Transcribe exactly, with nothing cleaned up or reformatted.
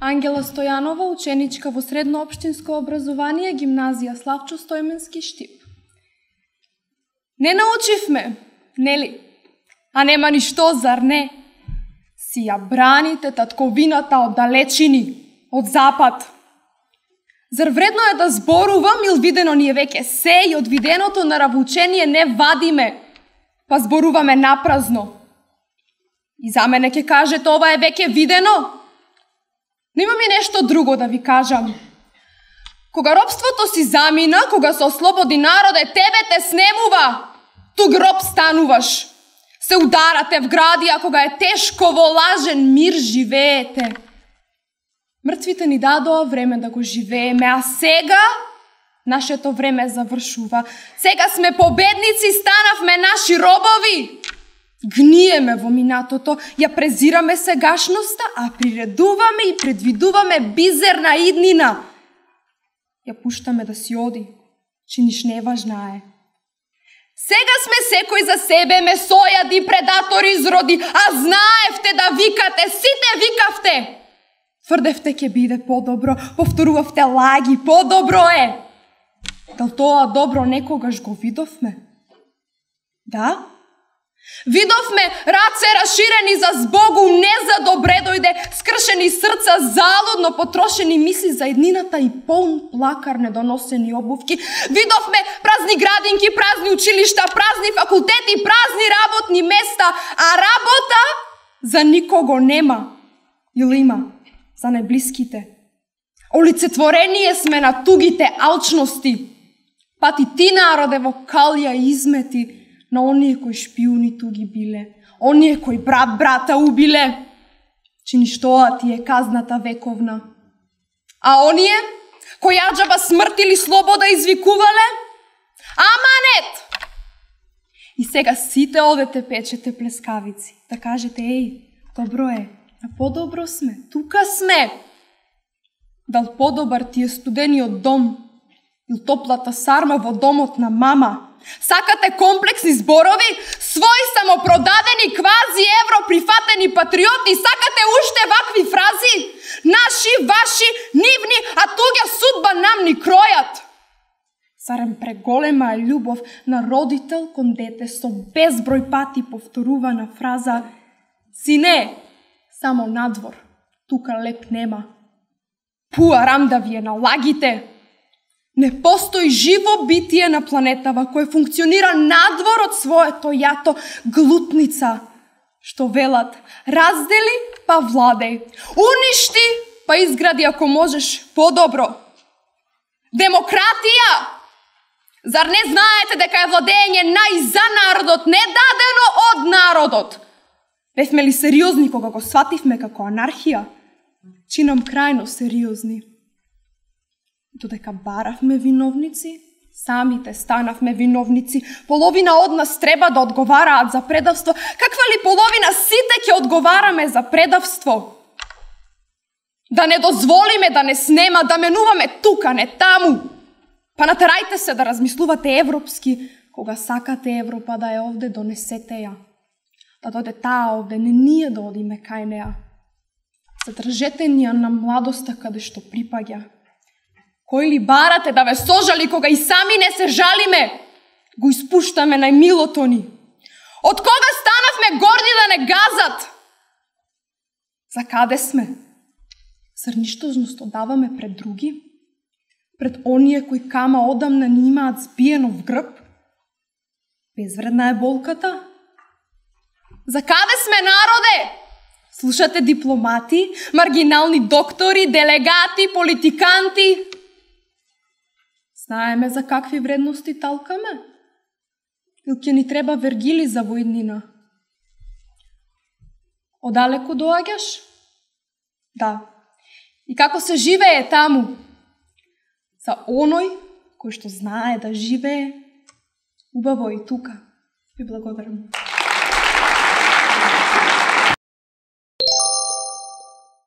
Ангела Стојанова, ученичка во средно општинско образование, гимназија Славчо Стојменски, Штип. Не научивме, нели? А нема ништо, зар не? Си ја браните татковината од далечини, од запад. Зар вредно е да зборувам, ил видено ние веќе се и од виденото на равучение не вадиме, па зборуваме напразно. И за мене ќе кажете, ова е веќе видено? Но имам и нешто друго да ви кажам. Кога робството си замина, кога се ослободи народе, тебе те снемува. Тук роб стануваш. Се ударате в гради, а кога е тешко во лажен мир живеете. Мртвите ни дадоа време да го живееме, а сега нашето време завршува. Сега сме победници, станавме наши робови. Гниеме во минатото, ја презираме сегашноста, а приредуваме и предвидуваме бизерна иднина. Ја пуштаме да си оди, че ниш не важна е. Сега сме секој за себе, месојади, предатори изроди, а знаевте да викате, сите викавте. Тврдевте ќе биде по-добро, повторувавте лаги, по-добро е. Дал тоа добро некогаш го видовме? Да? Видовме раце раширени за збогу, не за добре дојде, скршени срца, залудно потрошени мисли за еднината и полн плакар недоносени обувки. Видовме празни градинки, празни училишта, празни факултети, празни работни места, а работа за никого нема. Или има за најблиските. Олицетворение сме на тугите алчности. Пати ти народе во калја измети на оние кои шпиуни туги биле, оние кои брат брата убиле, чиниш тоа ти е казната вековна. А оние кои аџаба смрт или слобода извикувале, аманет! И сега сите одете печете плескавици, да кажете, еј, добро е, а подобро сме, тука сме. Дал подобар ти е студениот дом, или топлата сарма во домот на мама. Сакате комплексни зборови, своји самопродадени квази европрифатени патриоти, сакате уште вакви фрази? Наши, ваши, нивни, а туѓа судба нам ни кројат. Зарем преголема е љубов на родител кон дете со безброј пати повторувана фраза: сине, само надвор, тука леп нема. Пуарам да ви е налагите. Не постои живо битие на планетава кое функционира надвор од своето јато, глутница, што велат: раздели па владеј, уништи па изгради ако можеш подобро. Демократија! Зар не знаете дека е владење нај за народот, не дадено од народот? Бевме ли сериозни кога го свативме како анархија? Чинам крајно сериозни. Додека баравме виновници, самите станавме виновници. Половина од нас треба да одговараат за предавство. Каква ли половина сите ќе одговараме за предавство? Да не дозволиме да не снема, да менуваме тука, не таму. Па натерајте се да размислувате европски. Кога сакате Европа да е овде, донесете ја. Да дојде таа овде, не ние да одиме кај неа. Задржете ни ја на младоста каде што припаѓа. Кој ли барате да ве сожали кога и сами не се жалиме? Го испуштаме најмилото ни. Од кога станавме горди да не газат? За каде сме? Зар ништожност одаваме пред други? Пред оние кои кама одамна ни имаат збиено в грб? Безвредна е болката? За каде сме, народе? Слушате дипломати, маргинални доктори, делегати, политиканти? Знаеме за какви вредности талкаме? Или ќе ни треба Вергили за воиднина? Одалеку доаѓаш? Да. И како се живее таму? За оној кој што знае да живее, убаво и тука. Ви благодарам.